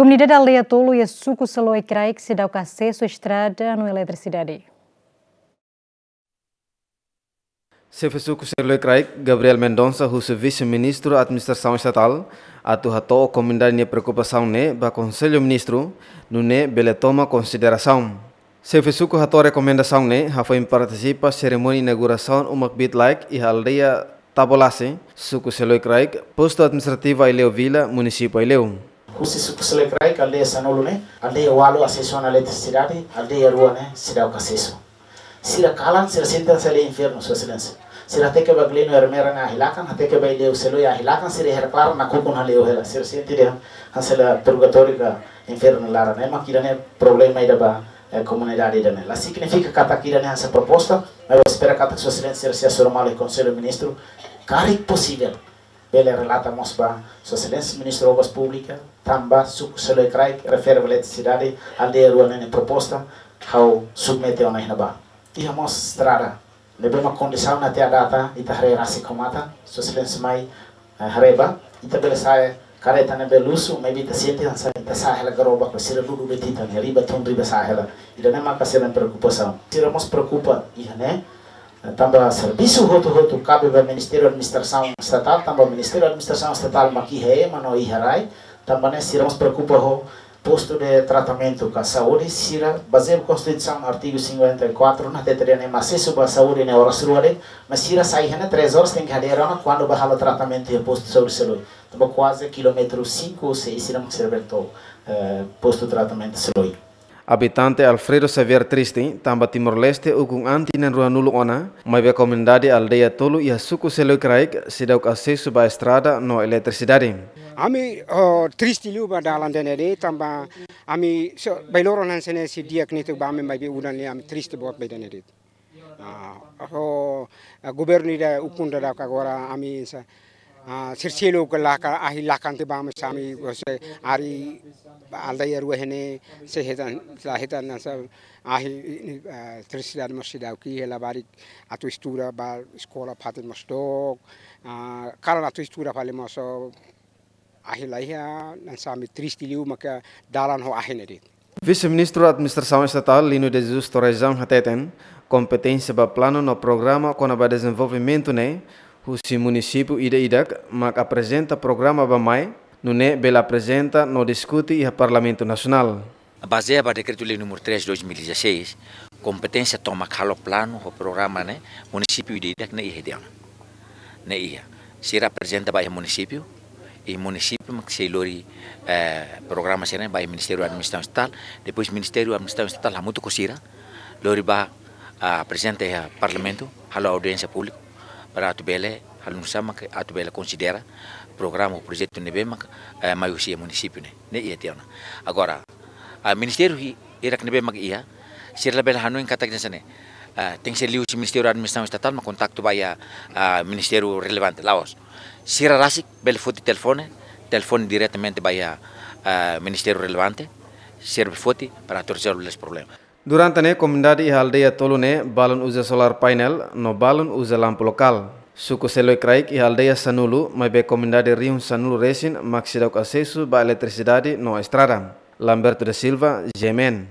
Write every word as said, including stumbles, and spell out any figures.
Komunidade aldeia tolu iha suku Seloi Kraik seidauk asesu estrada no eletrisidade. Xefe suku Seloi Kraik, Gabriel Mendonça, husu Vise-Ministru Administrasaun Estatál atu hato'o komunidade nia preokupasaun ne'e ba Konsellu Ministru, nune'e bele toma konsiderasaun. Xefe suku hato'o rekomendasaun ne'e hafoin partisipa serimónia inaugurasaun uma kbiit-laek iha aldeia Tabolase, suku Seloi Kraik, postu administrativu Aileu Vila, munisípiu Aileu. Husi suku Seloi Kraik, aldeia sanulu ne'e, aldeia ualu asesu ona eletrisidade, aldeia rua ne'e seidauk asesu. Sira kalan, sira sente hanesan infernu, Sua Exelénsia. Sira hateke ba Gleno Ermera nia ahi lakan, hateke ba Aileu Seloi ahi lakan, sira iha klaran nakukun hale'u hela. Sira sente dehan hanesan purgatóriu ka infernu laran. Ema, ida-ne'e problema ida ba, eh, komunidade ida-ne'e. La signifika katak ida-ne'e hanesan proposta, maibé espera katak Sua Exelénsia sira sei hasoru malu iha Konsellu Ministru, karik posivel, bele relata mós ba Sua Exelénsia Ministru Obras Públikas, tanba suku Seloi Kraik refere ba eletrisidade, aldeia rua ne'e nia proposta, ha'u submete ona iha ne'ebá. Iha mós estrada, ne'ebé mak kondisaun até à data, ita haree rasik ho matan, Sua Exelénsia mai, eh, haree ba, ita bele sa'e kareta ne'ebé luxu, maibé ita sente hanesan ita sa'e hela garoba, ko sira dudu de'it ita-nia riba tun riba sa'e hela. Ida-ne'e maka sira-nia preokupasaun. Sira mós preokupa iha ne'e, tanba servisu hotu-hotu kabe ba Ministériu Administrasaun Estatál, tanba Ministériu Administrasaun Estatál mak iha ema no iha rai, tanba ne'e sira mós preokupa ho postu de tratamentu ka saúde, sira bazeia Konstituisaun artigu cinquenta e quatro, ne'e hatete dehan ema asesu ba saúde ne'e oras rua de'it, mas sira sai iha ne'e três horas tenke hadeer ona kuandu bá halo tratamentu iha postu saúde Seloi. Tanba kuaze kilómetru cinco ou seis sira mak sira bele to'o, eh, postu tratamentu Seloi. Abitante Alfredo Xavier triste, tanba Timor-Leste ukun anin tinan ruanulu ona, maibé komunidade aldeia tolu iha suku Seloi Kraik seidauk asesu ba estrada no eletrisidade. Ami, oh, triste liu ba dalan ida-ne'e de'it, tanba ami so, bainhira hanesan ne'e sei di'ak netik ba ami, maibé udan ne'e ami triste boot ba ida-ne'e de'it. Ah, ho, ah, governu ida ukun daudauk agora ami sa, ah, sira seluk ka laka, ahi lakan tiha ba ami, sami, ose, ari aldeia rua ne'e sei hetan, la hetan hanesan ahi, ah, eletrisidade mós seidauk iha, labarik atu estuda ba eskola fatin mós dook, ah, kalan atu estuda fali mós, oh, ahi la iha, hanesan ami triste liu maka dalan ho ahi ne'e de'it. Vise-Ministru Administrasaun Estatál Lino de Jesus Torrejão hateten, kompeténsia ba planu no programa kona-ba dezenvolvimentu ne'e husi munisípiu ida-idak mak aprezenta programa bá-mai, nune'e bele aprezenta no diskute iha Parlamentu Nasionál. Bazeia ba Dekretu-Lei número três dois mil e dezasseis, kompeténsia tomak halo planu ho programa ne'e, munisípiu ida-idak ne'e iha de'it ona. Ne'e iha. Sira aprezenta ba iha munisípiu, i munisípiu mak sei lori, eh, programa sira-ne'e ba iha Ministériu Administrasaun Estatál, depois Ministériu Administrasaun Estatál hamutuk ho sira, lori bá, ah, aprezenta iha Parlamentu, halo audiénsia públiku, para atu bele, halo nu'usá mak atu bele konsidera programa ou projetu ne'ebé mak, eh, mai husi iha munisípiu ne'e. Ne'e iha tiha ona. Agora, ah, ministériu hi-, hirak ne'ebé mak iha, sira labele hanoin katak hanesan ne'e, ah, tenke ser liuhusi Ministériu Administrasaun Estatál mak kontaktu ba iha, ah, ministériu relevante, la'ós. Sira rasik bele foti telefone, telefone diretamente ba iha, ah, ministériu relevante, sira bele foti para atu rezolve nia problema. Durante ne'e komunidade iha aldeia tolu ne'e balun uza solar painel no balun uza lampu lokál. Suku Seloi Kraik iha aldeia sanulu, maibé komunidade rihun sanulu resin mak seidauk asesu ba eletrisidade no estrada. Lamberto da Silva, G M N.